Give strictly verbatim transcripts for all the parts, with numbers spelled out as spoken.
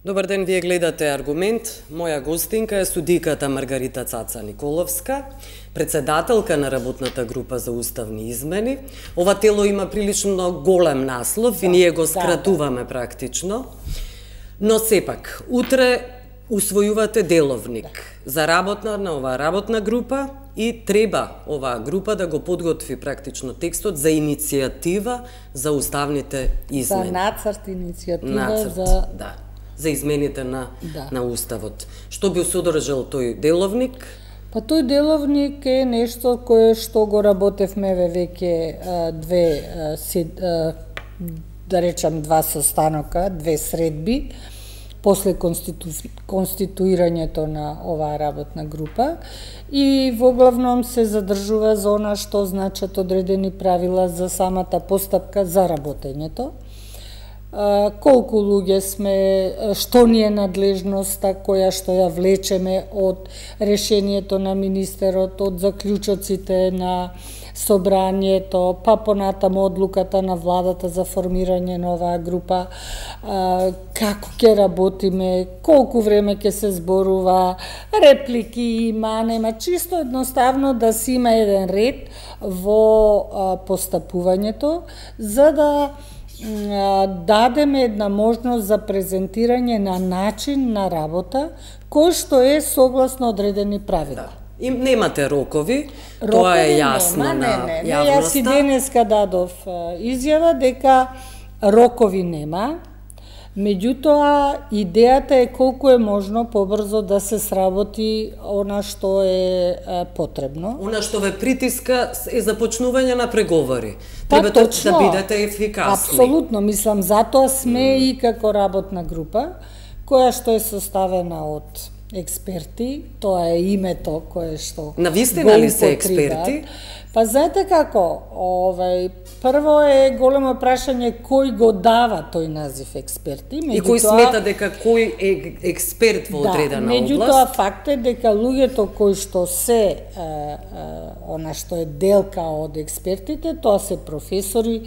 Добар ден, вие гледате Аргумент. Моја гостинка е судиката Маргарита Цаца Николовска, председателка на работната група за уставни измени. Ова тело има прилично голем наслов да, и ние го скратуваме да, да. практично. Но сепак, утре усвојувате деловник да. за работна на оваа работна група и треба оваа група да го подготви практично текстот за иницијатива за уставните измени. За нацрт иницијатива нацрт, за да. за измените на, да. на Уставот. Што би содржал тој деловник? Па тој деловник е нешто кое што го работевме веќе две, да речам, два состанока, две средби, после конститу... конституирањето на оваа работна група и во главном се задржува за она што значат одредени правила за самата постапка за работењето. Колку луѓе сме, што ни е надлежноста која што ја влечеме од решението на министерот, од заклучоците на собранието, па понатаму одлуката на владата за формирање на оваа група, како ќе работиме, колку време ќе се зборува, реплики има, нема, чисто едноставно да си има еден ред во постапувањето, за да дадеме една можност за презентирање на начин на работа кој што е согласно одредени правила. Да. И немате рокови, рокови тоа е јасно нема, на не, не, јавноста. Јас и денеска дадов изјава дека рокови нема, меѓутоа идејата е колку е можно побрзо да се сработи она што е потребно. Она што ве притиска е започнување на преговори. Па, Треба точно, да бидете ефикасни. Апсолутно, мислам, затоа сме mm. и како работна група, која што е составена од експерти, тоа е името кое што навистина ли се експерти? Па знаете како, овај прво е големо прашање кој го дава тој назив експерти, меѓутоа и кој смета дека кој е експерт во одредена да, област. Меѓутоа факт е дека луѓето кои што се е, е, она што е делка од експертите, тоа се професори,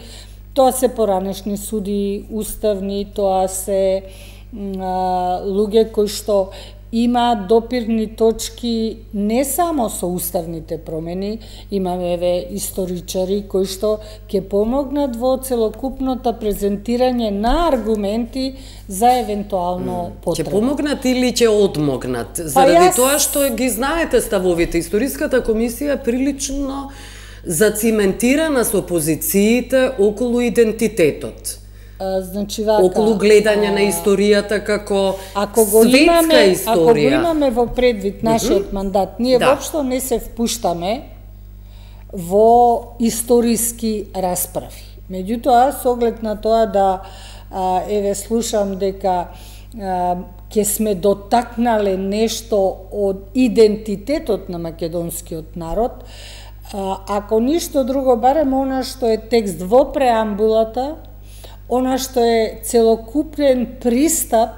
тоа се поранешни суди, уставни, тоа се а, луѓе кои што има допирни точки не само со уставните промени, имаме еве историчари кои што ќе помогнат во целокупното презентирање на аргументи за евентуално потреба. Ќе помогнат или ќе одмогнат? Заради па јас... тоа што ги знаете ставовите, Историската комисија е прилично зациментирана со позициите околу идентитетот. А, значи вака, околу гледање а, на историјата како ако го светска имаме, историја. Ако го имаме во предвид нашиот mm -hmm. мандат, ние да. воопшто не се впуштаме во историски расправи. Меѓутоа, со оглед на тоа да а, еве слушам дека а, ќе сме дотакнале нешто од идентитетот на македонскиот народ, а, ако ништо друго, барем она што е текст во преамбулата, она што е целокупен пристап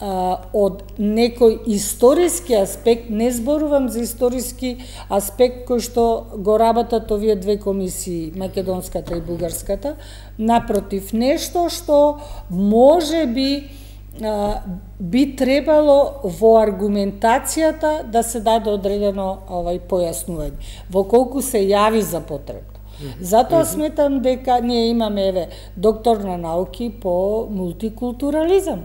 а, од некој историски аспект, не зборувам за историски аспект кој што го работат овие две комисии, македонската и бугарската, напротив, нешто што може би а, би требало во аргументацијата да се даде одредено овај појаснување, во колку се јави за потреба. Затоа сметам дека ние имаме еве доктор на науки по мултикултурализам.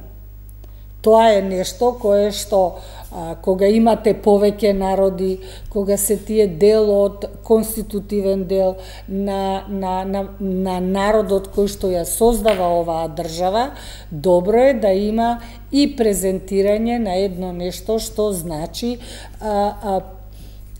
Тоа е нешто кое што а, кога имате повеќе народи, кога се тие дел од конститутивен дел на, на, на, на народот кој што ја создава оваа држава, добро е да има и презентирање на едно нешто што значи а, а,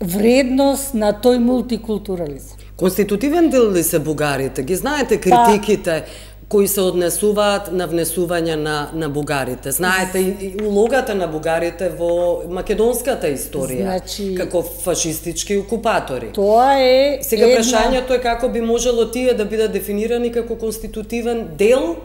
вредност на тој мултикултурализам. Конститутивен дел ли се бугарите? Ги знаете критиките кои се однесуваат на внесување на, на бугарите? Знаете и, и улогата на бугарите во македонската историја, значи, како фашистички окупатори. Тоа е Сега една... прашањето е како би можело тие да бидат дефинирани како конститутивен дел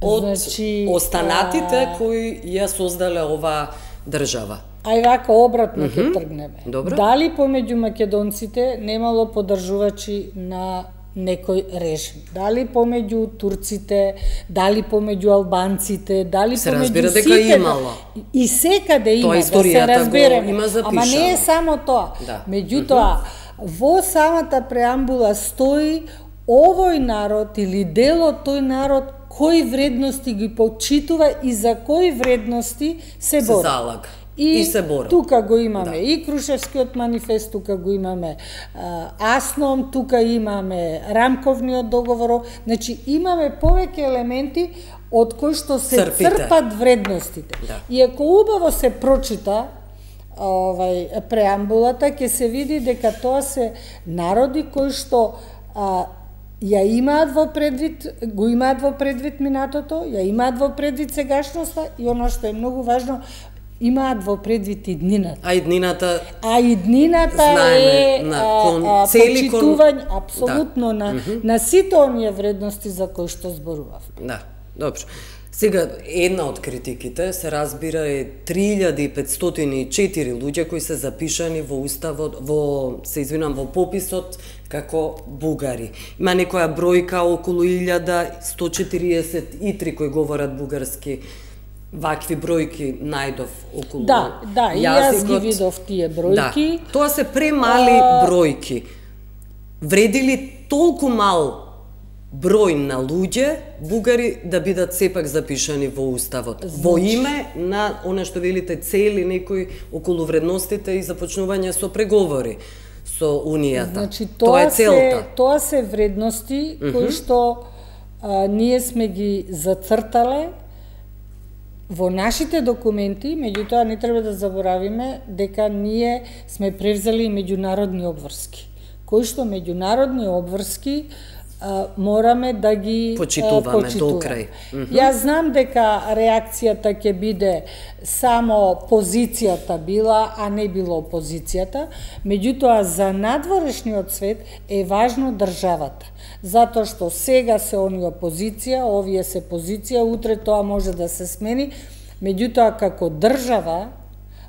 од значи, останатите а... кои ја создале оваа држава. Ај вака обратно ќе mm -hmm. тргнеме. Добро. Дали помеѓу македонците немало поддржувачи на некој режим. Дали помеѓу турците, дали помеѓу албанците, дали се помеѓу разбира дека сите. имало. И секаде има, Тоа да се разбереме. има Ама не е само тоа. Да. Меѓутоа, во самата преамбула стои овој народ или дел од тој народ кои вредности ги почитува и за кои вредности се бори. Се залага. И, И, и се бори. тука го имаме Да. и Крушевскиот манифест, тука го имаме а, АСНОМ, тука имаме рамковниот договор, значи имаме повеќе елементи од кои што се Црпите. црпат вредностите. Да. И ако убаво се прочита овај преамбулата, ќе се види дека тоа се народи кои што а, ја имаат во предвид, го имаат во предвид минатото, ја имаат во предвид сегашноста и она што е многу важно, имаат во предвид иднината. А иднината А иднината знаеме, е на а, кон- а, цели кон- почитување апсолутно Да. на, на сите оние вредности за кои што зборував. Да, добро. Сега, една од критиките, се разбира, е три илјади и петстотини и четири луѓе кои се запишани во уставот, во, се извинам, во пописот како бугари. Има некоја бројка околу илјада сто четириесет и три кои говорат бугарски. Вакви бројки најдов околу Да, да, и јас ги јазикот. видов тие бројки. Да, тоа се премали А... бројки. Вреди ли толку мал број на луѓе, бугари, да бидат сепак запишани во уставот? Значи... Во име на она што велите цели некои околу вредностите и започнување со преговори со Унијата. Значи, тоа, тоа е целта. Се, тоа се вредности mm -hmm. кои што а, ние сме ги зацртале во нашите документи, меѓутоа не треба да заборавиме дека ние сме превзели и меѓународни обврски, кои што меѓународни обврски а, мораме да ги почитуваме, а, почитуваме. до крај. Mm -hmm. Јас знам дека реакцијата ќе биде само позицијата била, а не било опозицијата, меѓутоа за надворешниот свет е важно државата. Затоа што сега се они опозиција, овие се позиција, утре тоа може да се смени, меѓутоа како држава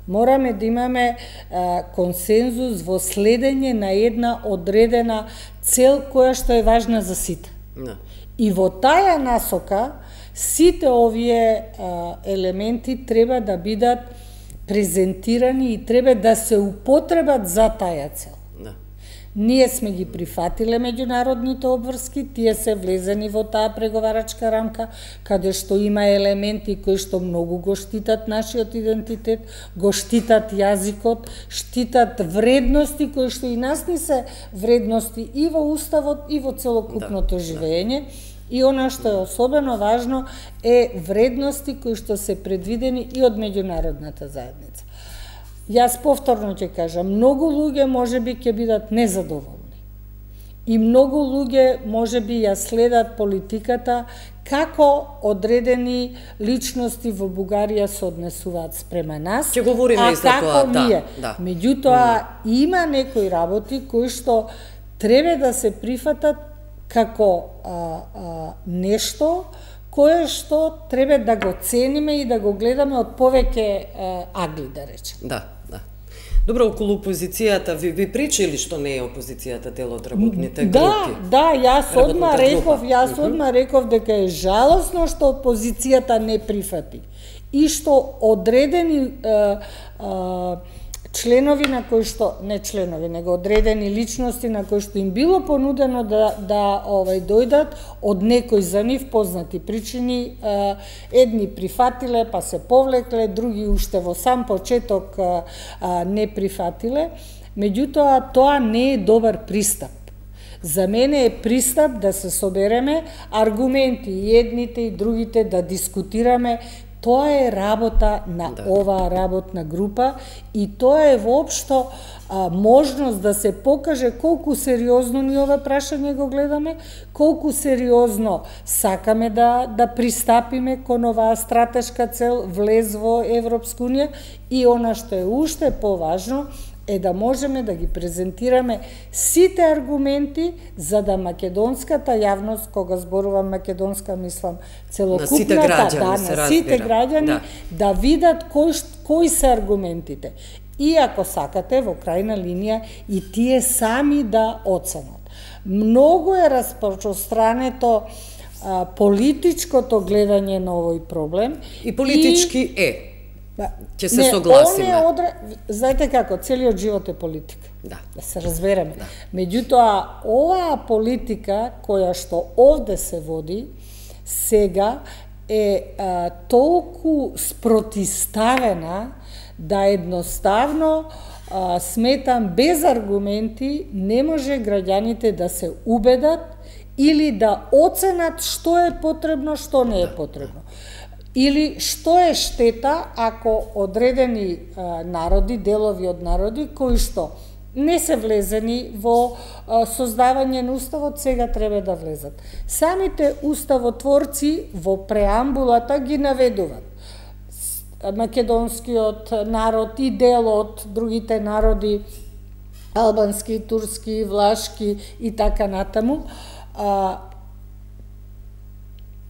мораме да имаме а, консензус во следење на една одредена цел која што е важна за сите. Да. И во таја насока сите овие а, елементи треба да бидат презентирани и треба да се употребат за таја цел. Да. Ние сме ги прифатиле меѓународните обврски, тие се влезени во таа преговарачка рамка, каде што има елементи кои што многу го штитат нашиот идентитет, го штитат јазикот, штитат вредности кои што и нас ни се вредности и во уставот и во целокупното Да, живење. И она што е особено важно е вредности кои што се предвидени и од меѓународната заедница. Јас повторно ќе кажам, многу луѓе можеби ќе бидат незадоволни. И многу луѓе можеби ја следат политиката како одредени личности во Бугарија се однесуваат спрема нас, Ќе говориме а и за како тоа, да, ние. да. Меѓутоа, mm. има некои работи кои што треба да се прифатат како а, а, нешто кое што треба да го цениме и да го гледаме од повеќе а, агли, да речем. Да, да. Добро, околу опозицијата, ви, ви причили што не е опозицијата дел од работните групи? Да, да, јас одма Работната реков, група. јас одма реков дека е жалосно што опозицијата не прифати и што одредени а, а, членови на кои што, не членови, него одредени личности на кои што им било понудено да, да овај, дојдат од некои за нив познати причини, а, едни прифатиле па се повлекле, други уште во сам почеток а, а, не прифатиле, меѓутоа тоа не е добар пристап. За мене е пристап да се собереме аргументи и едните и другите да дискутираме. Тоа е работа на Да. оваа работна група и тоа е воопшто а, можност да се покаже колку сериозно ни ова прашање го гледаме, колку сериозно сакаме да да пристапиме кон оваа стратешка цел влез во Европска унија и она што е уште поважно е да можеме да ги презентираме сите аргументи за да македонската јавност, кога зборувам македонска, мислам целокупната, На сите граѓани, да, се на сите разбира. граѓани, Да. да видат кои, кои се аргументите. И ако сакате, во крајна линија, и тие сами да оценат. Многу е распространето а, политичкото гледање на овој проблем. И политички и... е. Ќе се не, согласиме. Он е одре... Знаете како, целиот живот е политика. Да. Да се разбереме. Да. Меѓутоа, оваа политика која што овде се води, сега е а, толку спротиставена да едноставно а, сметам без аргументи не може граѓаните да се убедат или да оценат што е потребно, што не е потребно. Или што е штета ако одредени а, народи, делови од народи кои што не се влезени во а, создавање на уставот, сега треба да влезат. Самите уставотворци во преамбулата ги наведуваат. Македонскиот народ и дел од другите народи, албански, турски, влашки и така натаму, а,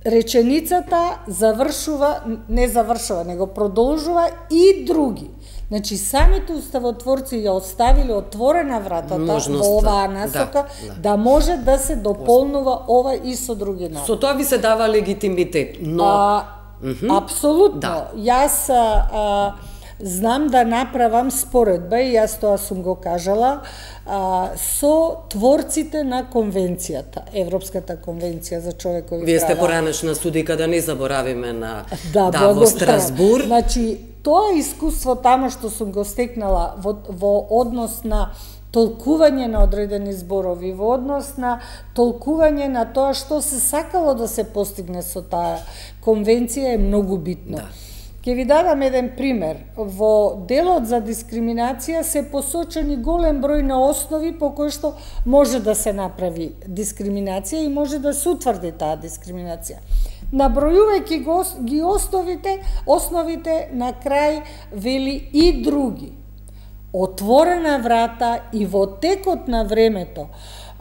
реченицата завршува, не завршува, него продолжува и други. Значи, самите уставотворци ја оставиле отворена вратата Можност, во оваа насока, да, да. да може да се дополнува ова и со други народи. Со тоа ви се дава легитимитет, но... А, Mm-hmm. Апсолутно. Да. Јас а, знам да направам споредба, и јас тоа сум го кажала, а, со творците на конвенцијата, Европската конвенција за човекови права. Вие сте поранешна судика, да не заборавиме на да, да, во Страсбур. Значи, тоа искуство тамо што сум го стекнала во, во однос на толкување на одредени зборови, во однос на толкување на тоа што се сакало да се постигне со таа конвенција е многу битно. Да. Ќе ви дадам еден пример. Во делот за дискриминација се посочени голем број на основи по кои што може да се направи дискриминација и може да се утврди таа дискриминација. Набројувајќи ги основите, основите на крај вели и други. Отворена врата и во текот на времето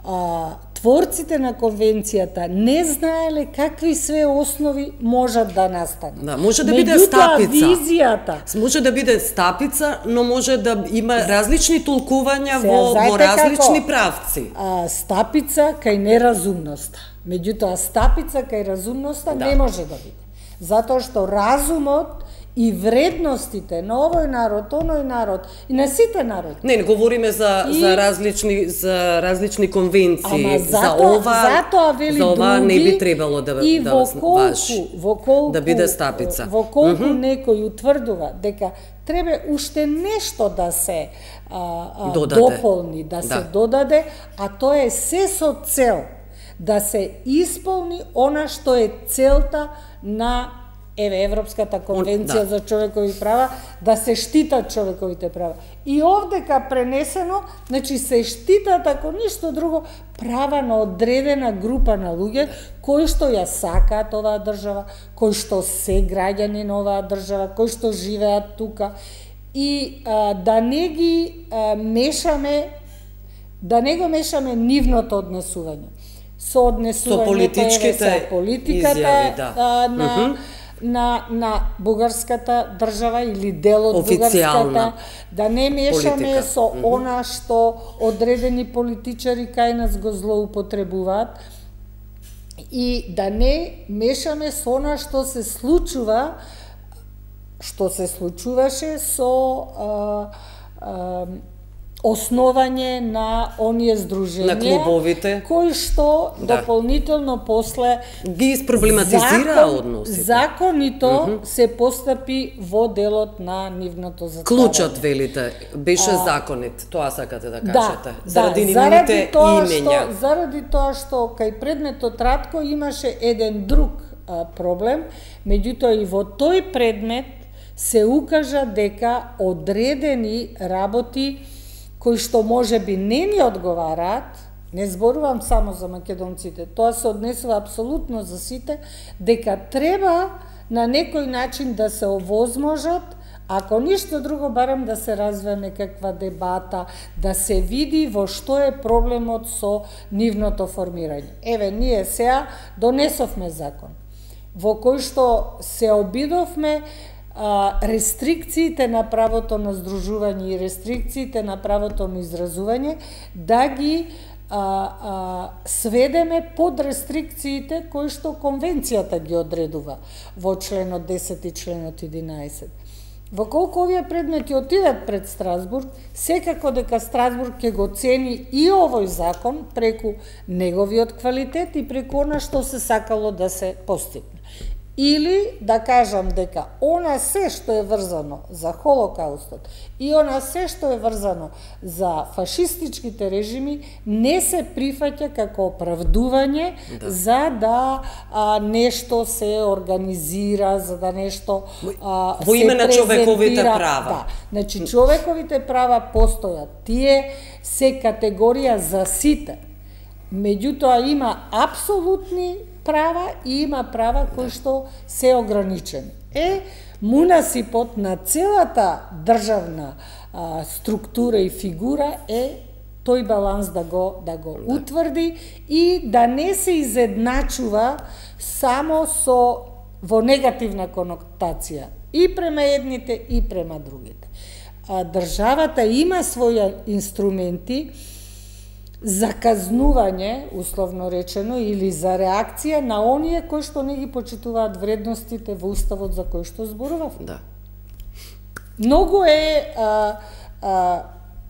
а, творците на конвенцијата не знаеле какви све основи можат да настанат. Да, може да биде стапица. Визијата. Може да биде стапица, но може да има различни толкувања Сега, во, во различни како? правци. А, стапица кај неразумноста. Меѓутоа, стапица кај разумноста Да. не може да биде. Затоа што разумот и вредностите на овој народ, оној народ и на сите народи. Не, не говориме за И... за различни за различни конвенции. Ама зато, за ова затоа вели за ова други, не би требало да и да во колку, важи. во колку, да биде стапица. Во колку mm mm-hmm. некој утврдува дека треба уште нешто да се а, а, додаде. дополни, да, да се додаде, а тоа е се со цел да се исполни она што е целта на еве Европската конвенција да. за човекови права, да се штитат човековите права. И овдека пренесено, значи се штитат, ако ништо друго, права на одредена група на луѓе кои што ја сакаат оваа држава, кои што се граѓани на оваа држава, кои што живеат тука, и а, да не ги а, мешаме, да не го мешаме нивното однесување. Со однесувањето, со политичките политиката изјави, да. а, на mm-hmm. на на бугарската држава или дел од бугарската, да не мешаме политика. Со mm -hmm. она што одредени политичари кај нас го злоупотребуваат, и да не мешаме со она што се случува, што се случуваше со а, а, основање на оние здруженија, на клубовите, кои што да. дополнително после ги испроблематизира односите. Законито mm -hmm. се постапи во делот на нивното затворање. Клучот, велите, беше а, законит, тоа сакате да кажете. Да, заради да, нивните имења. Што, заради тоа што кај предметот Ратко имаше еден друг а, проблем, меѓутоа и во тој предмет се укажа дека одредени работи кои што може би не ни одговараат, не зборувам само за македонците, тоа се однесува апсолутно за сите, дека треба на некој начин да се овозможат, ако ништо друго, барем да се развие некаква дебата, да се види во што е проблемот со нивното формирање. Еве, ние сега донесовме закон, во кој што се обидовме рестрикциите на правото на здружување и рестрикциите на правото на изразување да ги а, а, сведеме под рестрикциите кои што конвенцијата ги одредува во членот десет и членот единаесет. Во колку овие предмети отидат пред Страсбург, секако дека Страсбург ќе го цени и овој закон преку неговиот квалитет и преку она што се сакало да се постигне. Или да кажам дека она се што е врзано за Холокаустот и она се што е врзано за фашистичките режими не се прифаќа како оправдување да. за да а, нешто се организира, за да нешто а, во име на човековите права. Да, значи човековите права постојат. Тие се категорија за сите. Меѓутоа има апсолутни права и има права кои што се ограничени. Е, мунасипот на целата државна а, структура и фигура е тој баланс да го да го да. утврди и да не се изедначува само со во негативна конотација и према едните и према другите. А, државата има своји инструменти за казнување, условно речено, или за реакција на оние кои што не ги почитуваат вредностите во Уставот за кој што зборував. Да. Многу е а, а,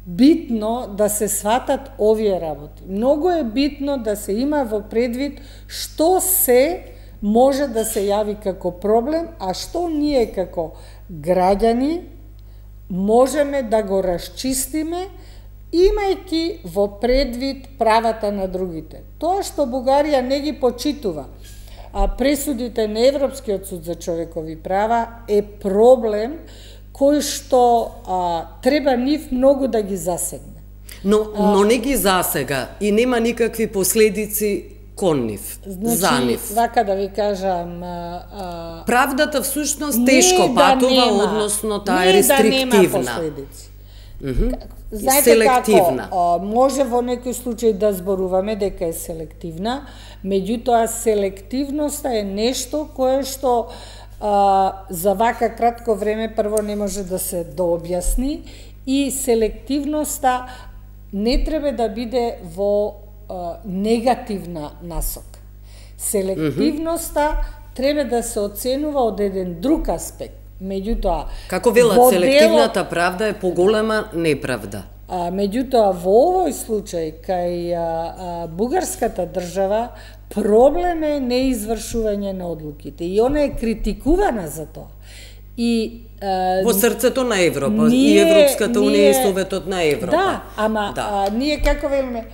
битно да се сватат овие работи. Многу е битно да се има во предвид што се може да се јави како проблем, а што ние како граѓани можеме да го расчистиме имајќи во предвид правата на другите. Тоа што Бугарија не ги почитува, а пресудите на Европскиот суд за човекови права е проблем кој што а, треба нив многу да ги засегне. Но, но не ги засега и нема никакви последици кон нив, значи, за нив. Вака да ви кажам... А, а, Правдата всушност тешко патува, да односно таа е рестриктивна. Не да нема последици. Mm -hmm. Знаете селективна. Како, може во некој случај да зборуваме дека е селективна, меѓутоа селективноста е нешто кое што а, за вака кратко време прво не може да се дообјасни и селективноста не треба да биде во а, негативна насока. Селективноста mm -hmm. треба да се оценува од еден друг аспект. Меѓутоа, како велат, селективната правда е поголема неправда. А, меѓутоа, во овој случај, кај а, а, бугарската држава, проблем е неизвршување на одлуките. И она е критикувана за тоа. И, а, во срцето на Европа, ние, и Европската унија и Советот на Европа. Да, ама да. А, ние како велиме,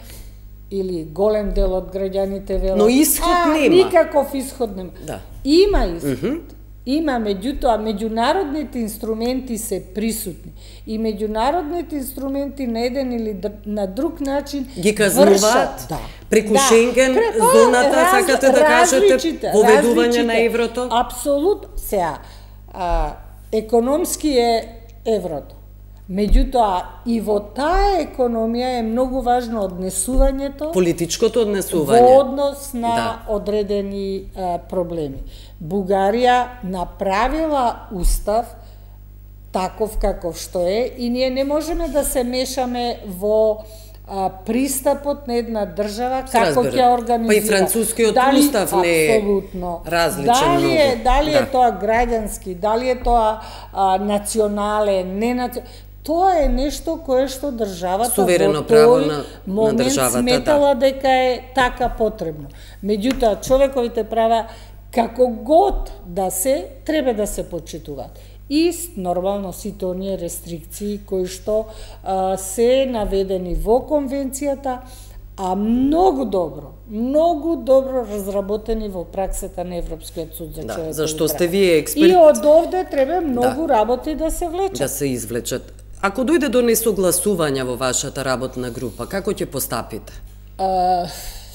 или голем дел од граѓаните велат, но исход а, нема. Никаков исход нема. Да. Има исход. Mm -hmm. Има, меѓутоа, меѓународните инструменти се присутни. И меѓународните инструменти на еден или на друг начин ги казнуваат. Да. Преку да. Шенген, Препа, зоната, раз, сакате да кажете, поведување на еврото? Апсолутно. Сега, а, економски е еврото. Меѓутоа, и во таа економија е многу важно однесувањето, политичкото однесување во однос на да. одредени а, проблеми. Бугарија направила устав таков каков што е и ние не можеме да се мешаме во а, пристапот на една држава како ќе организира. Па и францускиот дали, устав не е различен дали многу. Е, дали да. е тоа граѓански, дали е тоа а, национален, не национален. Тоа е нешто кое што државата суверено во право тој на, момент на државата, сметала да. дека е така потребно. Меѓутоа, човековите права, како год да се, треба да се почитуваат. И нормално сите оние рестрикции кои што а, се наведени во конвенцијата, а многу добро, многу добро разработени во праксата на Европскиот суд за човекови права. Да, зашто сте вие експерт. И од овде треба многу да. работи да се влечат. Да се извлечат. Ако дојде до несогласување во вашата работна група, како ќе постапите? А,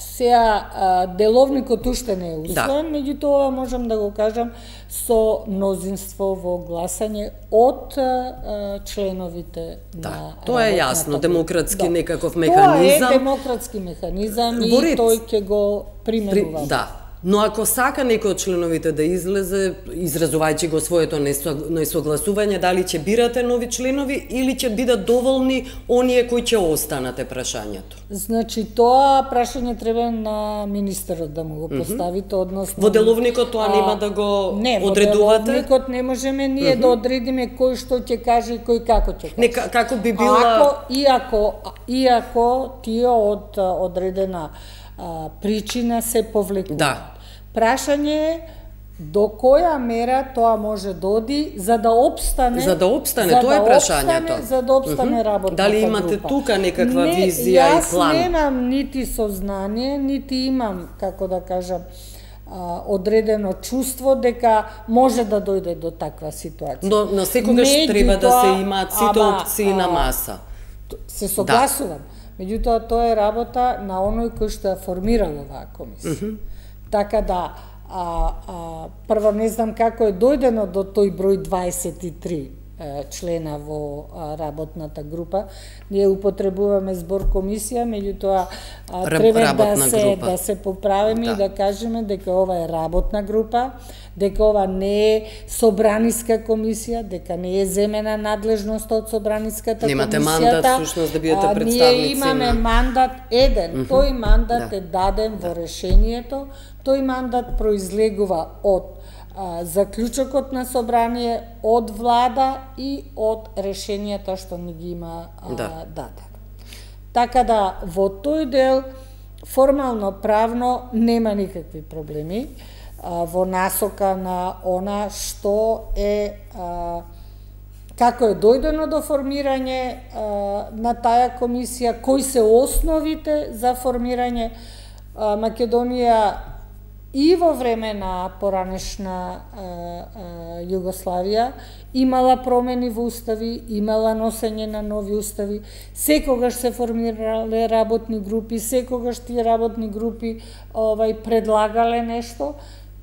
сега, а, деловникот уште не е усвоен, да. Меѓутоа можам да го кажам со мнозинство во гласање од а, членовите да. на Тоа е јасно, демократски да. некаков механизам. Тоа е демократски механизам и Борит. тој ќе го применува. При, да. Но ако сака некој од членовите да излезе, изразувајќи го своето несогласување, дали ќе бирате нови членови или ќе бидат доволни оние кои ќе останате прашањето? Значи, тоа прашање треба на министерот да му го поставите, односно... Во деловникот тоа нема да го не, одредувате? Не, во деловникот не можеме ние да одредиме кој што ќе каже и кој како ќе каже. Не, како би била... Ако, иако, иако тие од одредена а, причина се повлекуваат. Да. Прашање е до која мера тоа може да оди за да опстане За да опстане, за тоа е да прашањето. Опстане, за да опстане mm-hmm. работната Дали имате група. тука некаква не, визија и план? Јас немам нити сознание, нити имам, како да кажам, одредено чувство дека може да дојде до таква ситуација. Но, но секогаш Меѓутоа, треба да се имаат сите ама, опции на маса. Се согласувам. Да. Меѓутоа, тоа е работа на оној кој што ја формирал оваа комисија. Mm-hmm. Така да, а, а, прво не знам како е дојдено до тој број дваесет и три е, члена во а, работната група. Ние употребуваме збор комисија, меѓутоа а, треба да се, група. да се поправиме да. и да кажеме дека ова е работна група, дека ова не е собраниска комисија, дека не е земена надлежност од собраниската Немате комисијата. Немате мандат, всушност, да бидете представници. Ние имаме мандат еден. Mm-hmm. Тој мандат да. е даден да. во решението. Тој мандат произлегува од а, заклучокот на собрание, од влада и од решенијата што ни ги има а, да. даден. Така да, во тој дел, формално правно, нема никакви проблеми а, во насока на она што е а, како е дојдено до формирање а, на таа комисија, кои се основите за формирање. а, Македонија и во време на поранешна а, а, Југославија имала промени во устави, имала носење на нови устави, секогаш се формирале работни групи, секогаш тие работни групи овај предлагале нешто,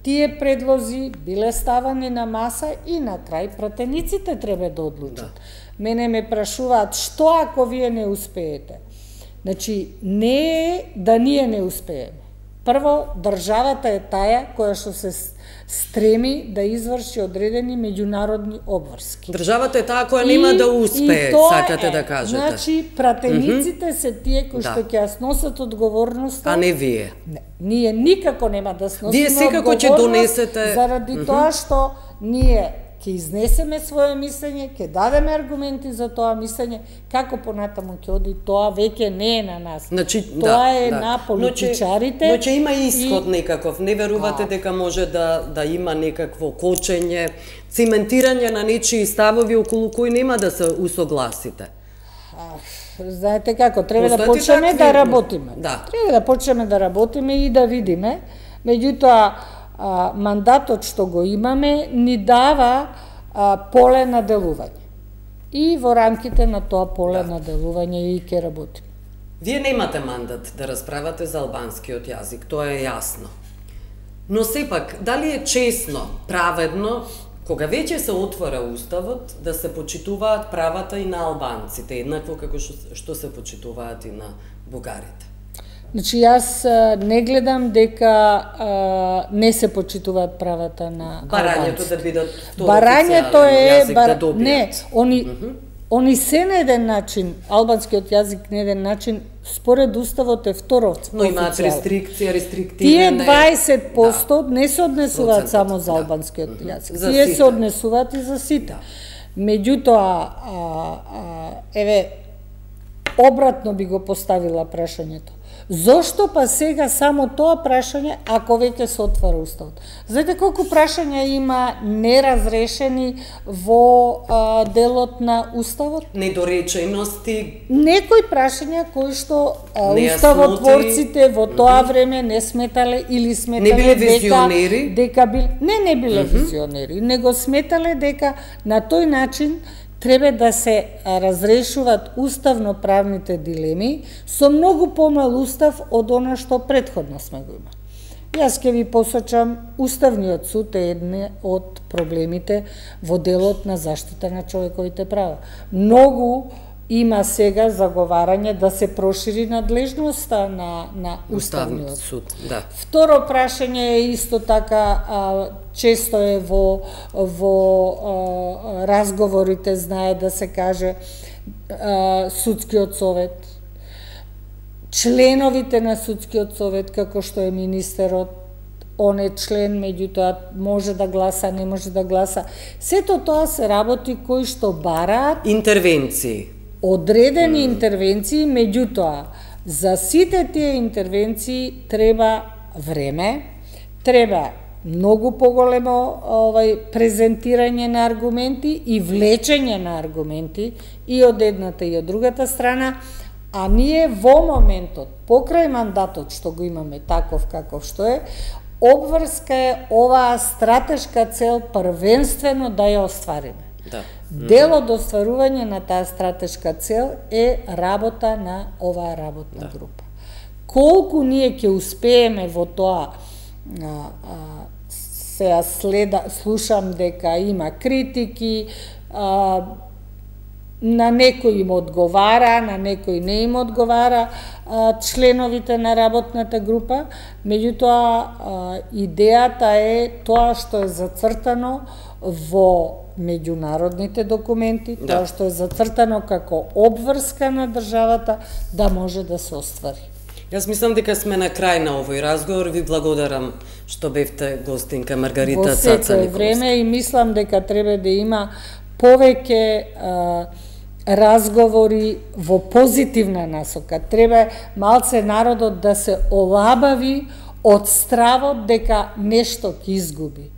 тие предлози биле ставани на маса и на крај пратениците треба да одлучат. Да. Мене ме прашуваат што ако вие не успеете. Значи, не е да ние не успееме. Прво, државата е таа која што се стреми да изврши одредени меѓународни обврски. Државата е таа која нема да успее, сакате е, да кажете. Значи, пратениците mm-hmm. се тие кои да. што ќе ја сносат одговорноста. А не вие. Не, ние никако нема да сносиме вие секако ќе донесете заради mm-hmm. тоа што ние ќе изнесеме свое мислење, ќе дадеме аргументи за тоа мислење, како понатаму ќе оди, тоа веќе не е на нас. Значи, тоа да, е да. на политичарите. Но ќе има исход и... некаков. Не верувате а... дека може да да има некакво кочење, циментирање на нечии ставови околу кои нема да се усогласите? А, знаете како, треба Постојате да почнеме такви... да работиме. Да. Треба да почнеме да работиме и да видиме. Меѓутоа, А, мандатот што го имаме ни дава а, поле на делување. И во рамките на тоа поле да. на делување и ќе работиме. Вие немате мандат да расправате за албанскиот јазик, тоа е јасно. Но сепак, дали е чесно, праведно, кога веќе се отвора уставот, да се почитуваат правата и на албанците, еднакво како што, што се почитуваат и на бугарите? Значи, јас не гледам дека а, не се почитуваат правата на Барањето албанците. да бидат Барањето е бар... да не, они mm-hmm. они се на еден начин, албанскиот јазик на еден начин според уставот е второ. Но имаат рестрикција, рестриктивна. Тие дваесет посто да. не се однесуваат Процентот, само за албанскиот да. јазик. За Тие сите. се однесуваат и за сите. Да. Меѓутоа, а, а, еве обратно би го поставила прашањето. Зошто па сега само тоа прашање, ако веќе се отвара уставот? Знаете колку прашања има неразрешени во а, делот на уставот? Недоречености. Некои прашања кои што а, уставотворците во тоа време не сметале или сметале не биле визионери? дека, дека бил... не не биле mm-hmm. визионери, него сметале дека на тој начин треба да се разрешуваат уставно-правните дилеми со многу помал устав од она што претходно сме го имали. Јас ќе ви посочам, Уставниот суд е едне од проблемите во делот на заштита на човековите права. Многу има сега заговарање да се прошири надлежноста на, на Уставниот суд. Да. Второ прашање е исто така, а, често е во, во а, разговорите, знае да се каже, а, судскиот совет. Членовите на судскиот совет, како што е министерот, он е член, меѓутоа може да гласа, не може да гласа. Сето тоа се работи кои што бараат интервенции. Одредени mm. интервенции, меѓутоа за сите тие интервенции треба време, треба многу поголемо овај презентирање на аргументи и влечење на аргументи и од едната и од другата страна, а ние во моментот, покрај мандатот што го имаме таков каков што е, обврска е оваа стратешка цел првенствено да ја оствариме. Да. Дел од остварување на таа стратешка цел е работа на оваа работна да. група. Колку ние ќе успееме во тоа, а, а, се следа, слушам дека има критики, а, на некој им одговара, на некој не им одговара а, членовите на работната група, меѓутоа идејата е тоа што е зацртано во меѓународните документи, да. тоа што е зацртано како обврска на државата, да може да се оствари. Јас мислам дека сме на крај на овој разговор. Ви благодарам што бевте гостинка Маргарита Цаца Николовска. Во секој време и мислам дека треба да има повеќе а, разговори во позитивна насока. Треба малце народот да се олабави од стравот дека нешто ќе изгуби.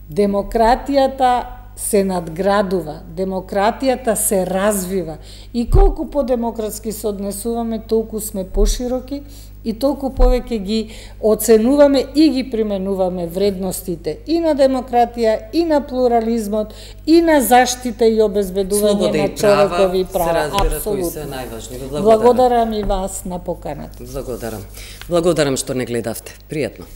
Демократијата се надградува, демократијата се развива и колку подемократски се однесуваме, толку сме пошироки и толку повеќе ги оценуваме и ги применуваме вредностите и на демократија, и на плурализмот, и на заштита и обезбедување на човекови права. Апсолутно. Се најважни. Благодарам и вас на поканата. Благодарам. Благодарам што не гледавте. Пријатно.